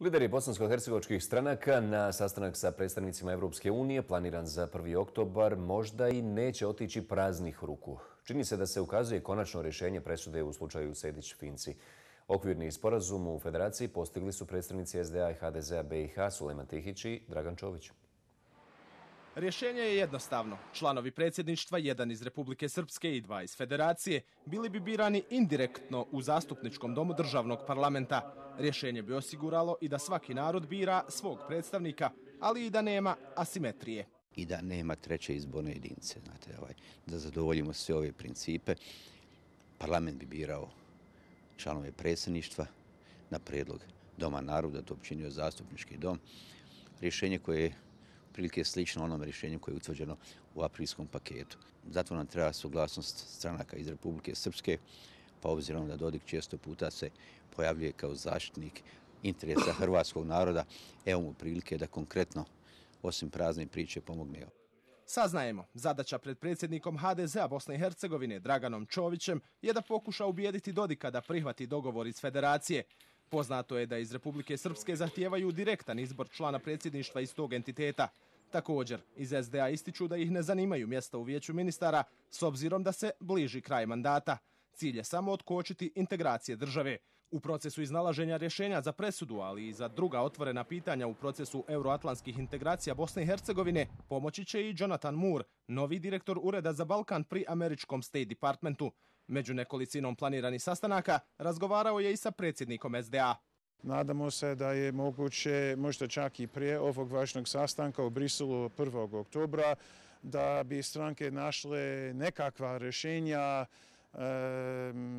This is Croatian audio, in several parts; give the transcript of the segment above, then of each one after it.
Lideri bosansko-hercegovačkih stranaka na sastanak sa predstavnicima Evropske unije, planiran za 1. oktobar, možda i neće otići praznih ruku. Čini se da se ukazuje konačno rješenje presude u slučaju Sejdić-Finci. Okvirni sporazum u federaciji postigli su predstavnici SDA i HDZ-a BiH Sulejman Tihić i Dragan Čović. Rješenje je jednostavno. Članovi predsjedništva, jedan iz Republike Srpske i dva iz Federacije, bili bi birani indirektno u zastupničkom domu državnog parlamenta. Rješenje bi osiguralo i da svaki narod bira svog predstavnika, ali i da nema asimetrije. I da nema treće izborne jedinice. Znate, da zadovoljimo sve ove principe. Parlament bi birao članove predsjedništva na prijedlog Doma naroda, to bi činio zastupnički dom. Rješenje koje je prilike slično onom rješenju koje je utvrđeno u aprilskom paketu. Zato nam treba suglasnost stranaka iz Republike Srpske, pa obzirom da Dodik često puta se pojavljuje kao zaštitnik interesa hrvatskog naroda, evo mu prilike da konkretno, osim prazne priče, pomogne. Saznajemo, zadaća pred predsjednikom HDZ-a Bosne i Hercegovine Draganom Čovićem je da pokuša ubijediti Dodika da prihvati dogovor iz Federacije. Poznato je da iz Republike Srpske zahtijevaju direktan izbor člana predsjedništva iz tog entiteta. Također, iz SDA ističu da ih ne zanimaju mjesta u vijeću ministara s obzirom da se bliži kraj mandata. Cilj je samo otkočiti integracije države. U procesu iznalaženja rješenja za presudu, ali i za druga otvorena pitanja u procesu euroatlantskih integracija Bosne i Hercegovine, pomoći će i Jonathan Moore, novi direktor Ureda za Balkan pri američkom State Departmentu. Među nekolicinom planiranih sastanaka razgovarao je i sa predsjednikom SDA. Nadamo se da je moguće, možda čak i prije ovog važnog sastanka u Briselu 1. oktobra, da bi stranke našle nekakva rješenja,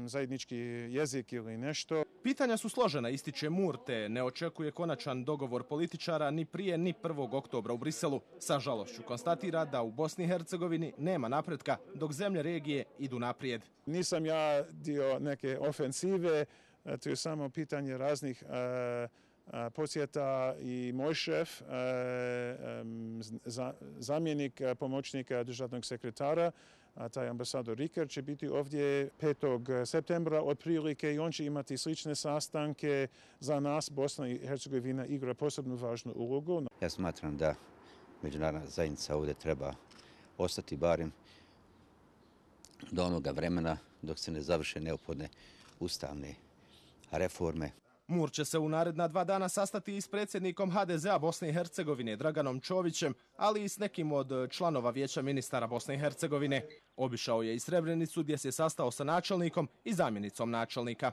zajednički jezik ili nešto. Pitanja su složena, ističe Moore, te ne očekuje konačan dogovor političara ni prije ni 1. oktobra u Briselu. Sa žalošću konstatira da u Bosni i Hercegovini nema napretka dok zemlje regije idu naprijed. Nisam ja dio neke ofensive, to je samo pitanje raznih posjeta i moj šef, zamjenik pomoćnika državnog sekretara, taj ambasador Riker, će biti ovdje 5. septembra otprilike i on će imati slične sastanke. Za nas Bosna i Hercegovina igra posebno važnu ulogu. Ja smatram da međunarodna zajednica ovdje treba ostati barem do onoga vremena dok se ne završe neophodne ustavne reforme. Moore će se u naredna 2 dana sastati i s predsjednikom HDZ-a Bosne i Hercegovine Draganom Čovićem, ali i s nekim od članova vijeća ministara Bosne i Hercegovine. Obišao je i Srebrenicu gdje se sastao sa načelnikom i zamjenicom načelnika.